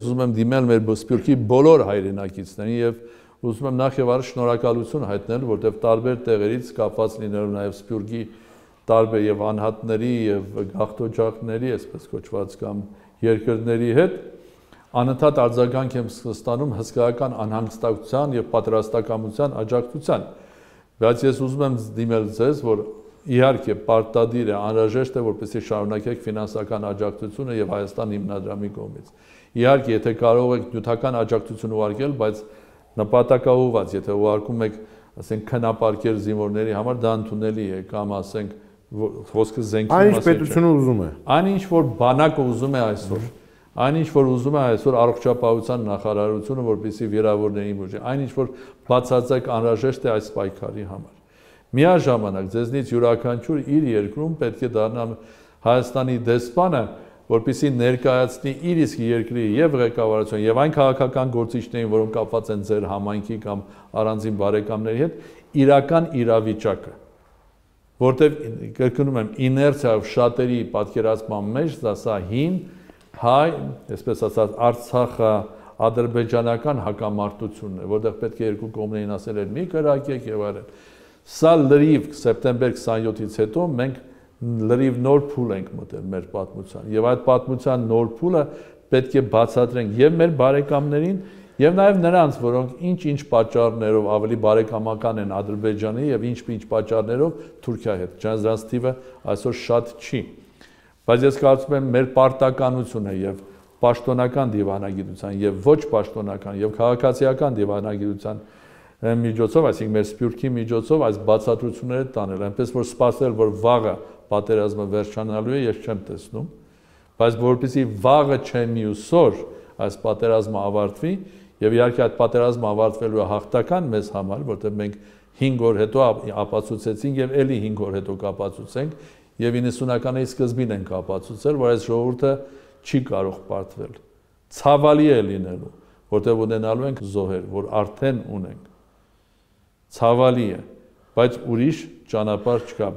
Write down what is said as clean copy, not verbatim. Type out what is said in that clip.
Ուզում եմ դիմել մեր Սփյուռքի բոլոր հայրենակիցներին եւ ուզում եմ նախ եւ առաջ շնորհակալություն հայտնել, որտեղ տարբեր տեղերից կապված լինելով նաեւ Սփյուռքի տարբեր եւ անհատների եւ գաղթօջախների, այսպես կոչված կամ երկրների հետ անընդհատ արձագանք եմ ստանում հսկայական անհանգստակցության եւ պատրաստակամության աջակցության։ Բայց ես ուզում եմ դիմել ձեզ, որ իհարկե պարտադիր է, անհրաժեշտ է, որպեսզի շարունակեք ֆինանսական աջակցությունը եւ Հայաստան հիմնադրամի կողմից։ Իհարկե, եթե կարող եք նյութական աջակցություն ուղարկել, բայց նպատակաուղղված, եթե ուղարկում եք, ասենք, քնապարկեր զինվորների համար, դա ընդունելի է, կամ ասենք, խոսքը զենքի մասին չէ։ Այն ինչ պետությունը ուզում է։ Այն ինչ որ բանակը ուզում է այսօր, այն ինչ որ ուզում է այսօր առողջապահության նախարարությունը, որպեսզի վիրավորներին բուժի, այն ինչ որ բացարձակ անհրաժեշտ է այս պայքարի համար։ Միաժամանակ ձեզնից յուրաքանչյուր իր երկրում պետք է դառնա Հայաստանի դեսպանը, որպեսզի ներկայացնի իր իսկ երկրի եւ ղեկավարություն եւ այն քաղաքական գործիչներին, որոնք կապված են ձեր համայնքի կամ առանձին բարեկամների հետ, իրական իրավիճակը, որտեղ կրկնում եմ, իներցիայով շատերի պատկերացման մեջ սա հին հայ, այսպես ասած, Արցախա-ադրբեջանական հակամարտությունն է, որտեղ պետք է երկու կողմերին ասել էր մի կրակեք եւ այլն։ Սա լրիվ սեպտեմբեր 27-ից հետո մենք լրիվ նոր փուլ ենք մտել մեր պատմության եւ այդ պատմության նոր փուլը պետք է բացատրենք եւ մեր բարեկամներին եւ նաեւ նրանց, որոնք ինչ պատճառներով ավելի բարեկամական են Ադրբեջանի եւ ինչ պատճառներով Թուրքիայի հետ։ Դրանց թիվը այսօր շատ չի։ Բայց ես կարծում եմ մեր պարտականությունը եւ պաշտոնական դիվանագիտության եւ ոչ պաշտոնական եւ քաղաքացիական դիվանագիտության միջոցով, այսինքն մեր Սփյուռքի միջոցով այս բացատրությունները տանել, այնպես որ սպասել, որ վաղը պատերազմը վերջանալու է, ես չեմ տեսնում, բայց որպեսզի վաղը չէ մյուսօր այս պատերազմը ավարտվի, եւ իհարկե այդ պատերազմը ավարտվելու է հաղթական մեզ համար, որտեղ մենք 5 օր հետո ապացուցեցինք եւ ելի 5 օր հետո կապացուցենք եւ 90-ականների սկզբին ենք ապացուցել, որ այս ժողովուրդը չի կարող պարտվել։ Ցավալի է լինելու, որտեղ ունենալու ենք զոհեր, որ արդեն ունենք։ Ցավալի է, բայց ուրիշ ճանապարհ չկա։